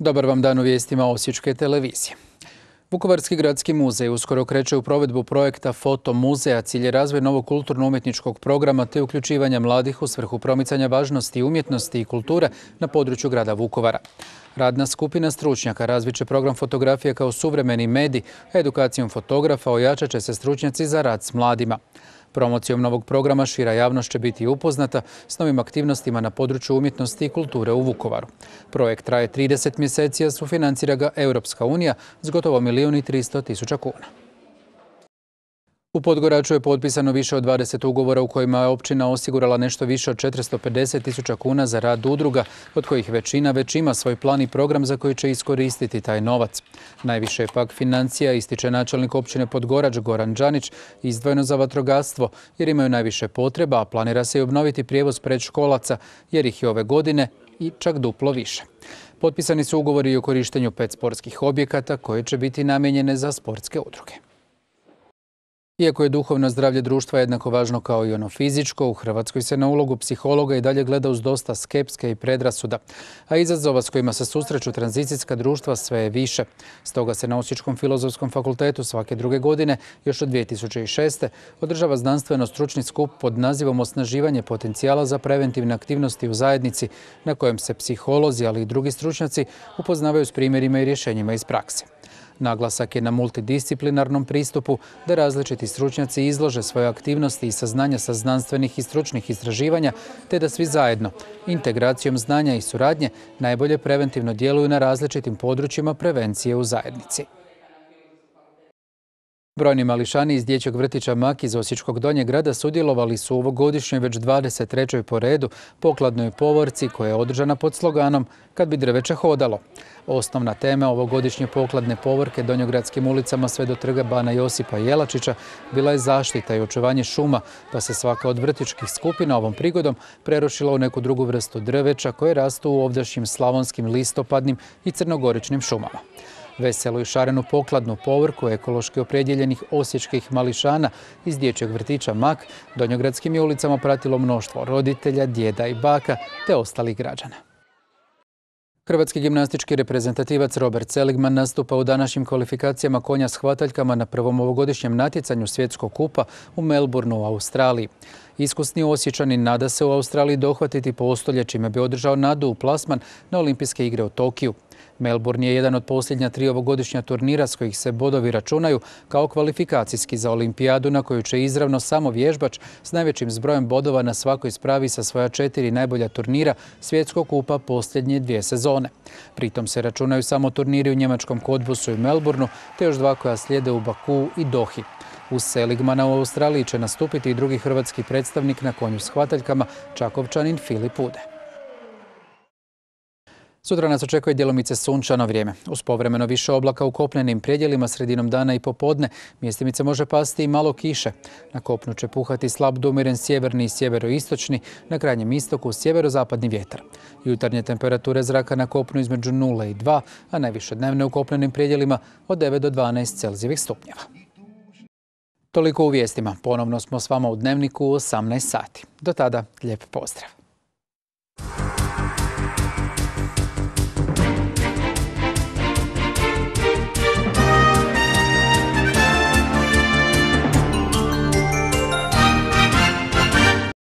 Dobar vam dan u vijestima Osječke televizije. Vukovarski gradski muzej uskoro kreće u provedbu projekta Foto muzeja. Cilj je razvoj novog kulturno-umjetničkog programa te uključivanja mladih u svrhu promicanja važnosti umjetnosti i kulture na području grada Vukovara. Radna skupina stručnjaka razvit će program fotografije kao suvremeni medij, a edukacijom fotografa ojačat će se stručnjaci za rad s mladima. Promocijom novog programa šira javnost će biti upoznata s novim aktivnostima na području umjetnosti i kulture u Vukovaru. Projekt traje 30 mjeseci, a sufinancira ga Europska unija s gotovo 1.300.000 kuna. U Podgoraču je potpisano više od 20 ugovora u kojima je općina osigurala nešto više od 450.000 kuna za rad udruga, od kojih većina već ima svoj plan i program za koji će iskoristiti taj novac. Najviše je pak financija, ističe načelnik općine Podgorač Goran Đanić, izdvojeno za vatrogastvo jer imaju najviše potreba, a planira se i obnoviti prijevoz predškolaca jer ih je ove godine i čak duplo više. Potpisani su ugovori i o korištenju 5 sportskih objekata koje će biti namijenjene za sportske udruge. Iako je duhovno zdravlje društva jednako važno kao i ono fizičko, u Hrvatskoj se na ulogu psihologa i dalje gleda uz dosta skepske i predrasuda, a izazova s kojima se susreću tranzicijska društva sve je više. Stoga se na Osječkom filozofskom fakultetu svake druge godine, još od 2006. održava znanstveno-stručni skup pod nazivom Osnaživanje potencijala za preventivne aktivnosti u zajednici, na kojem se psiholozi, ali i drugi stručnjaci upoznavaju s primjerima i rješenjima iz prakse. Naglasak je na multidisciplinarnom pristupu da različiti stručnjaci izlože svoje aktivnosti i saznanja sa znanstvenih i stručnih istraživanja, te da svi zajedno, integracijom znanja i suradnje, najbolje preventivno djeluju na različitim područjima prevencije u zajednici. Brojni mališani iz dječjeg vrtića Mak iz Osječkog Donjeg grada sudjelovali su u ovogodišnjoj već 23. po redu pokladnoj povorci koja je održana pod sloganom "Kad bi drveće hodalo". Osnovna tema ovogodišnje pokladne povorke donjogradskim ulicama sve do trga Bana Josipa Jelačića bila je zaštita i očuvanje šuma, pa se svaka od vrtićkih skupina ovom prigodom prerušila u neku drugu vrstu drveća koje rastu u ovdašnjim slavonskim listopadnim i crnogoričnim šumama. Veselu i šarenu pokladnu povorku ekološki opredjeljenih osječkih mališana iz dječjeg vrtića Mak donjogradskim je ulicama pratilo mnoštvo roditelja, djeda i baka te ostalih građana. Hrvatski gimnastički reprezentativac Robert Seligman nastupa u današnjim kvalifikacijama konja s hvataljkama na prvom ovogodišnjem natjecanju svjetskog kupa u Melbourneu u Australiji. Iskusni Osječanin nada se u Australiji dohvatiti postolje, čime bi održao nadu u plasman na Olimpijske igre u Tokiju. Melbourne je jedan od posljednja 3 ovogodišnja turnira s kojih se bodovi računaju kao kvalifikacijski za olimpijadu na koju će izravno samo vježbač s najvećim zbrojem bodova na svakoj spravi sa svoja 4 najbolja turnira svjetskog kupa posljednje 2 sezone. Pritom se računaju samo turniri u njemačkom Cottbusu i Melbourneu te još 2 koja slijede u Bakuu i Dohi. Uz Seligmana u Australiji će nastupiti i drugi hrvatski predstavnik na konju s hvataljkama, Čakovčanin Filip Ude. Sutra nas očekuje djelomice sunčano vrijeme. Uz povremeno više oblaka u kopnenim predjelima sredinom dana i popodne mjestimice može pasti i malo kiše. Na kopnu će puhati slab do umjeren sjeverni i sjeveroistočni, na krajnjem istoku sjeverozapadni vjetar. Jutarnje temperature zraka na kopnu između 0 i 2, a najviše dnevne u kopnenim predjelima od 9 do 12 Celzijevih stupnjeva. Toliko u vijestima. Ponovno smo s vama u Dnevniku u 18 sati. Do tada, lijep pozdrav.